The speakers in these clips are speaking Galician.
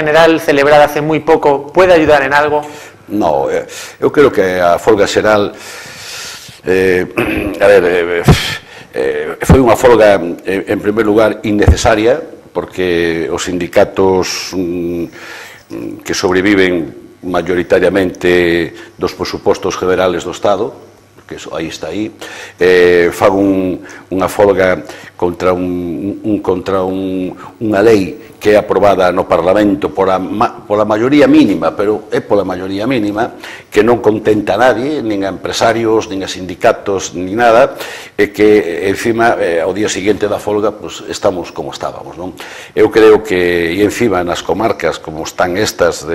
general celebrada hace moi pouco pode ayudar en algo? No, eu creo que a folga xeral foi unha folga en primer lugar innecesaria, porque os sindicatos que sobreviven mayoritariamente dos presupostos generales do Estado, que aí está aí, fan unha folga contra unha lei que é aprobada no Parlamento pola maioría mínima, pero é pola maioría mínima, que non contenta a nadie, nin a empresarios, nin a sindicatos, nin nada, e que, encima, ao día seguinte da folga, estamos como estábamos, non? Eu creo que, e encima, nas comarcas, como están estas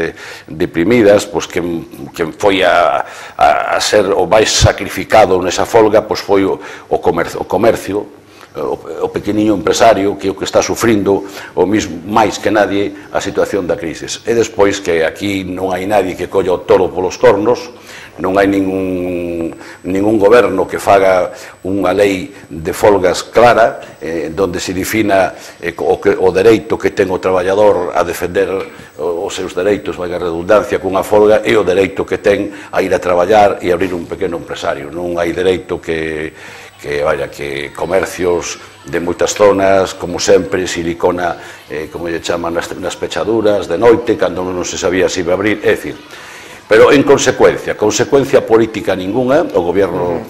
deprimidas, quen foi a ser o máis sacrificado nesa folga, foi o comercio, o pequeniño empresario, que é o que está sufrindo o mismo máis que nadie a situación da crisis. E despois que aquí non hai nadie que colla o toro polos cornos, non hai ningún goberno que faga unha lei de folgas clara, donde se defina o dereito que ten o traballador a defender os seus dereitos, vai a redundancia, cunha folga, e o dereito que ten a ir a traballar e abrir un pequeno empresario. Non hai dereito que comercios de moitas zonas, como sempre, silicona, como lle chaman, nas pechaduras, de noite, cando non se sabía se iba a abrir, é dicir. Pero, en consecuencia política ninguna, o goberno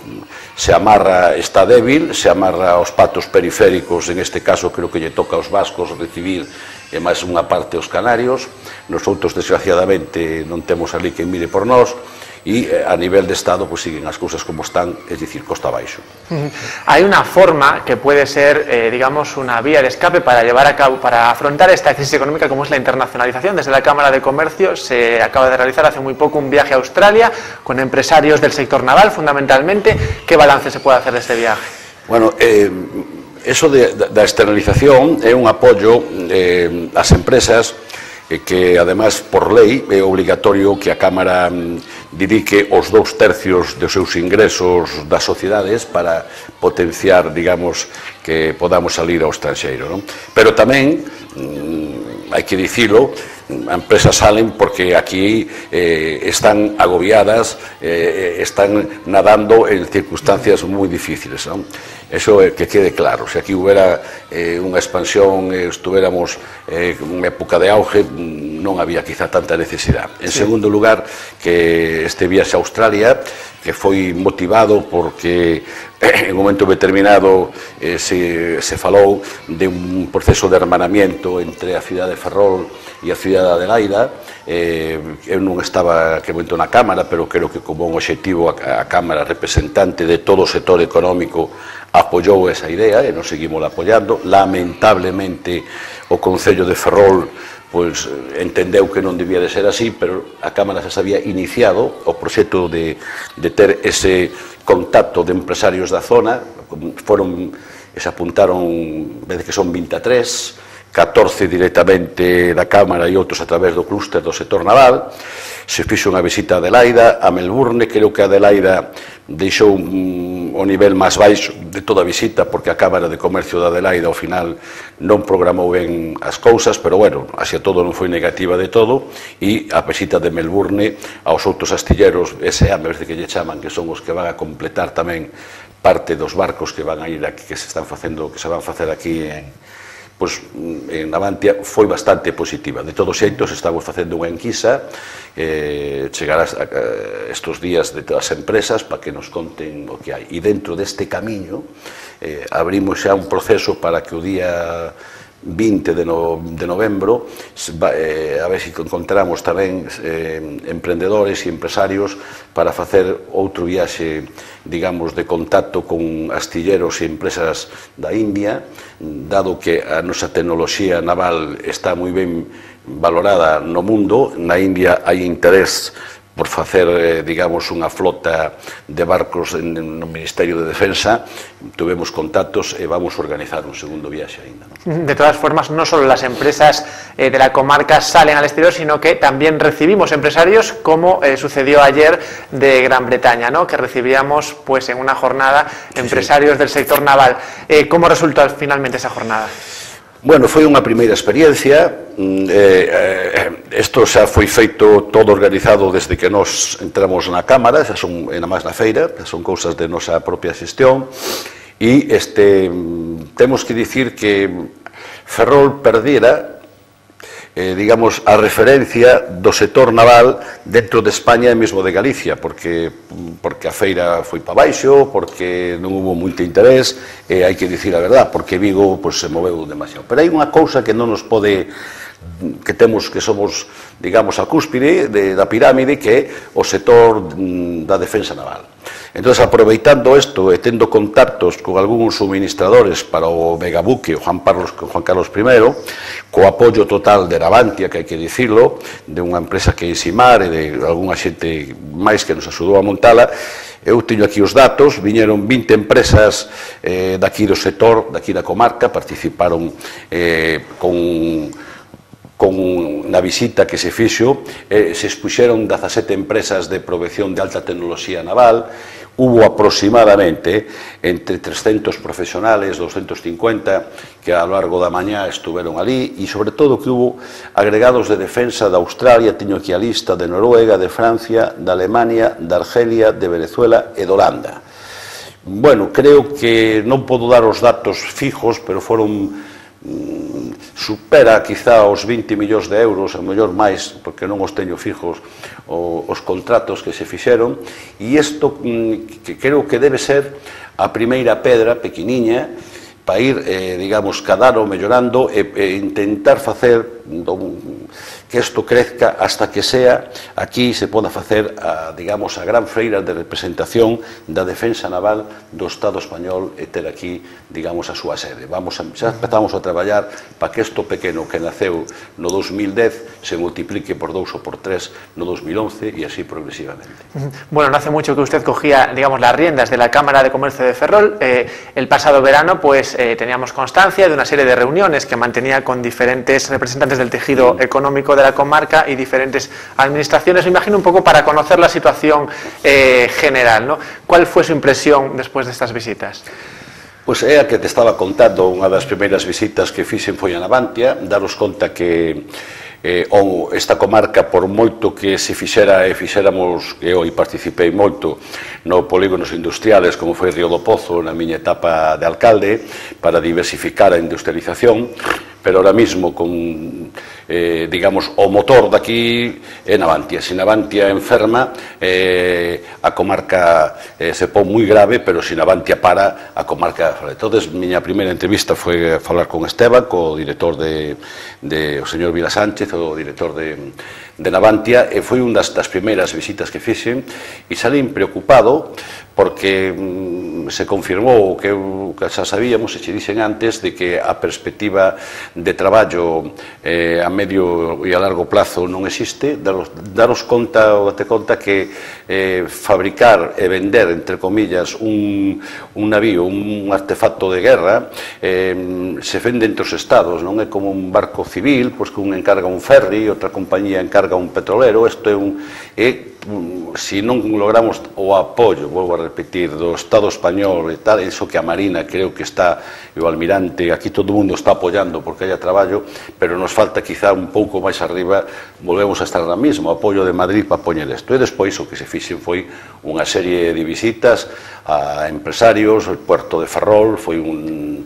se amarra, está débil, se amarra aos patos periféricos, en este caso creo que lle toca aos vascos recibir, e máis unha parte aos canarios. Nosotros, desgraciadamente, non temos ali quen mire por nós, e a nivel de Estado siguen as cousas como están, es decir, costa abaixo. Hay una forma que puede ser, digamos, una vía de escape para llevar a cabo, para afrontar esta crisis económica, como es la internacionalización. Desde la Cámara de Comercio se acaba de realizar hace muy poco un viaje a Australia con empresarios del sector naval, fundamentalmente. ¿Qué balance se puede hacer de este viaje? Bueno, eso da externalización é un apoio ás empresas que, además, por lei, é obligatorio que a Cámara dedique os 2/3 dos seus ingresos das sociedades para potenciar, digamos, que podamos salir ao estranxeiro, non? Pero tamén, hai que dicilo, as empresas salen porque aquí están agobiadas, están nadando en circunstancias moi difíciles, non? Eso que quede claro. Se aquí houbera unha expansión, estuéramos en época de auge, non había quizá tanta necesidade. En segundo lugar, que este viaxe a Australia, que foi motivado porque en un momento determinado se falou de un proceso de hermanamiento entre a cidade de Ferrol e a cidade de Adelaida. Eu non estaba que momento na Cámara, pero creo que como un obxectivo a Cámara representante de todo o sector económico apoiou esa idea e nos seguimos apoiando. Lamentablemente o Concello de Ferrol entendeu que non debía de ser así, pero a Cámara se había iniciado o proxecto de ter ese contacto de empresarios da zona. Se apuntaron, veces que son 23, 14 directamente da Cámara e outros a través do clúster do sector naval. Se fixo unha visita a Adelaida, a Melbourne. Creo que a Adelaida deixou o nivel máis baixo de toda a visita, porque a Cámara de Comercio de Adelaida ao final non programou ben as cousas, pero bueno, así todo non foi negativa de todo. E a visita de Melbourne aos outros astilleros S.A., me parece que lle chaman, que son os que van a completar tamén parte dos barcos que van a ir aquí, que se van a facer aquí en Navantia, foi bastante positiva. De todos xeitos, estamos facendo unha enquisa, chegar estes días de todas as empresas para que nos conten o que hai. E dentro deste camiño abrimos xa un proceso para que o día 20 de novembro a ver se encontramos tamén emprendedores e empresarios para facer outro viaxe, digamos, de contacto con astilleros e empresas da India, dado que a nosa tecnoloxía naval está moi ben valorada no mundo. Na India hai interés por facer, digamos, unha flota de barcos no Ministerio de Defensa. Tuvemos contactos e vamos a organizar un segundo viaxe ainda. De todas formas, no solo las empresas de la comarca salen al exterior, sino que también recibimos empresarios, como sucedió ayer de Gran Bretaña, ¿no? Que recibíamos en una jornada empresarios del sector naval. ¿Cómo resultó finalmente esa jornada? Bueno, foi unha primeira experiencia, isto xa foi feito todo organizado desde que nos entramos na Cámara, xa son, e na máis na feira, xa son cousas de nosa propia xestión, e temos que dicir que Ferrol perdera, digamos, a referencia do sector naval dentro de España e mesmo de Galicia, porque a feira foi para baixo, porque non hubo moito interés, e hai que dicir a verdad, porque Vigo se moveu demasiado. Pero hai unha cousa que non nos pode, que temos, que somos, digamos, a cúspide da pirámide, que é o sector da defensa naval. Entón, aproveitando isto e tendo contactos con algúns suministradores para o megabuque, o Juan Carlos I, co apoio total de Navantia, que hai que dicirlo, de unha empresa que é Isimar e de algunha xente máis que nos axudou a montala, eu teño aquí os datos, viñeron 20 empresas daqui do sector, daqui da comarca, participaron na visita que se fixo, se expuxeron 17 empresas de provección de alta tecnoloxía naval, hubo aproximadamente entre 300 profesionales, 250 que a lo largo da mañá estuveron ali, e sobre todo que hubo agregados de defensa de Australia, teño aquí a lista, de Noruega, de Francia, de Alemania, de Argelia, de Venezuela e de Holanda. Bueno, creo que non podo dar os datos fijos, pero foron supera quizá os 20 millóns de euros, a mellor máis, porque non os teño fijos, os contratos que se fixeron, e isto que creo que debe ser a primeira pedra pequeniña para ir, digamos, cada ano mellorando e intentar facer que isto crezca hasta que sea aquí se poda facer, digamos, a gran feira de representación da defensa naval do Estado español e ter aquí, digamos, a súa sede. Xa empezamos a traballar para que isto pequeno que naceu no 2010 se multiplique por 2 ou por 3 no 2011 e así progresivamente. Bueno, no hace mucho que usted cogía, digamos, las riendas de la Cámara de Comercio de Ferrol. El pasado verano, pues, teníamos constancia de una serie de reuniones que mantenía con diferentes representantes del tejido económico de la comarca y diferentes administraciones. Me imagino un poco para conocer la situación general, ¿no? ¿Cuál fue su impresión después de estas visitas? Pois é a que te estaba contando, unha das primeiras visitas que fixen foi a Navantia, daros conta que esta comarca, por moito que se fixera e fixéramos, eu participei moito no polígonos industriales, como foi Río do Pozo na miña etapa de alcalde, para diversificar a industrialización, pero ahora mismo con, digamos, o motor daqui é Navantia. Se Navantia enferma, a comarca se pon moi grave, pero se Navantia para, a comarca... Entón, miña primeira entrevista foi a falar con Esteban, co director o señor Vila Sánchez, o director de Navantia, e foi unha das primeiras visitas que fixen, e salín preocupado, porque se confirmou que xa sabíamos, e che dixen antes, de que a perspectiva de traballo a medio e a largo plazo non existe. Daros conta, ou date conta que fabricar e vender, entre comillas, un navío, un artefacto de guerra, se vende entre os estados, non é como un barco civil, pois que un encarga un ferry, outra compañía encarga un petrolero. Isto é se non logramos o apoio, volvo a repetir, do Estado español e tal, iso que a Marina creo que está, e o Almirante, aquí todo o mundo está apoiando porque haya traballo, pero nos falta quizá un pouco máis arriba, volvemos a estar na mesma, o apoio de Madrid para poñer isto. E despois o que se fixen foi unha serie de visitas a empresarios, o Puerto de Ferrol foi tamén